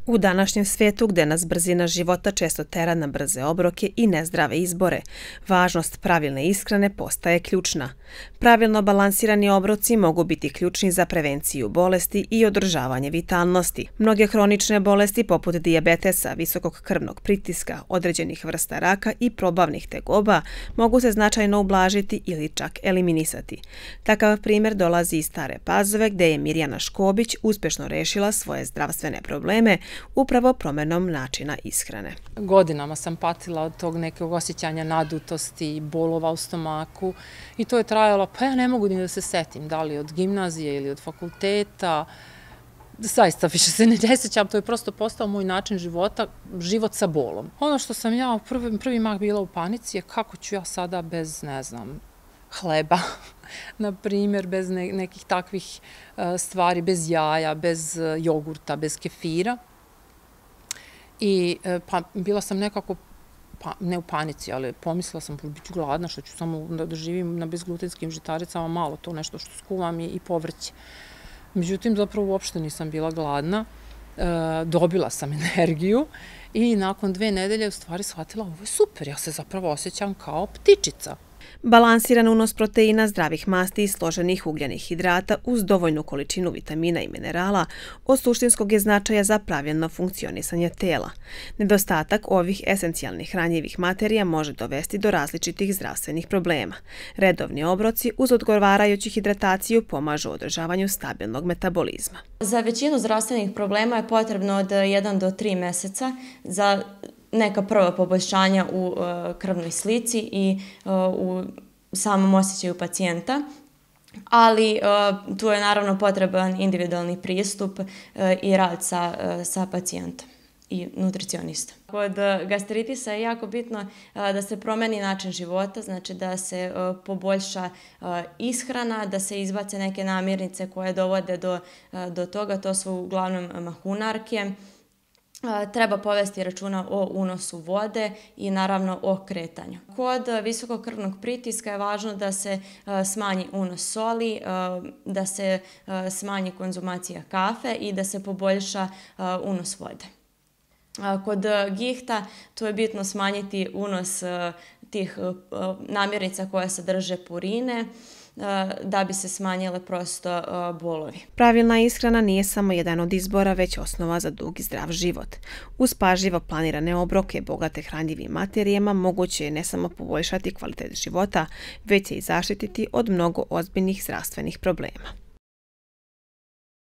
U današnjem svijetu gdje nas brzina života često tera na brze obroke i nezdrave izbore, važnost pravilne ishrane postaje ključna. Pravilno balansirani obroci mogu biti ključni za prevenciju bolesti i održavanje vitalnosti. Mnoge hronične bolesti poput dijabetesa, visokog krvnog pritiska, određenih vrsta raka i probavnih tegoba mogu se značajno ublažiti ili čak eliminisati. Takav primjer dolazi iz Stare Pazove gdje je Mirjana Škobić uspješno rešila svoje zdravstvene probleme upravo promjenom načina ishrane. Godinama sam patila od tog nekog osjećanja nadutosti, bolova u stomaku i to je trajalo, pa ja ne mogu ni da se setim, da li od gimnazije ili od fakulteta. Zaista više se ne sjećam, to je prosto postao moj način života, život sa bolom. Ono što sam ja u prvi mah bila u panici je kako ću ja sada bez, ne znam, hleba, na primjer, bez nekih takvih stvari, bez jaja, bez jogurta, bez kefira. I bila sam nekako, ne u panici, ali pomislila sam, bit ću gladna, što ću samo da živim na bezglutenskim žitaricama, malo to nešto što skuvam i povrće. Međutim, zapravo uopšte nisam bila gladna, dobila sam energiju i nakon 2 nedelje u stvari shvatila, ovo je super, ja se zapravo osjećam kao ptičica. Balansiran unos proteina, zdravih masti i složenih ugljenih hidrata uz dovoljnu količinu vitamina i minerala od suštinskog je značaja za pravilno funkcionisanje tela. Nedostatak ovih esencijalnih hranjivih materija može dovesti do različitih zdravstvenih problema. Redovni obroci uz odgovarajuću hidrataciju pomažu u održavanju stabilnog metabolizma. Za većinu zdravstvenih problema je potrebno od 1 do 3 mjeseca za neka prva poboljšanja u krvnoj slici i u samom osjećaju pacijenta, ali tu je naravno potreban individualni pristup i rad sa pacijentom i nutricionistom. Kod gastritisa je jako bitno da se promeni način života, znači da se poboljša ishrana, da se izbace neke namirnice koje dovode do toga, to su uglavnom mahunarke. Treba povesti računa o unosu vode i naravno o kretanju. Kod visokog krvnog pritiska je važno da se smanji unos soli, da se smanji konzumacija kafe i da se poboljša unos vode. Kod gihta tu je bitno smanjiti unos tih namirnica koje sadrže purine, da bi se smanjile prosto bolovi. Pravilna ishrana nije samo jedan od izbora, već osnova za dug i zdrav život. Uz pažljivo planirane obroke bogate hranjivim materijama moguće je ne samo poboljšati kvalitet života, već se i zaštititi od mnogo ozbiljnih zdravstvenih problema.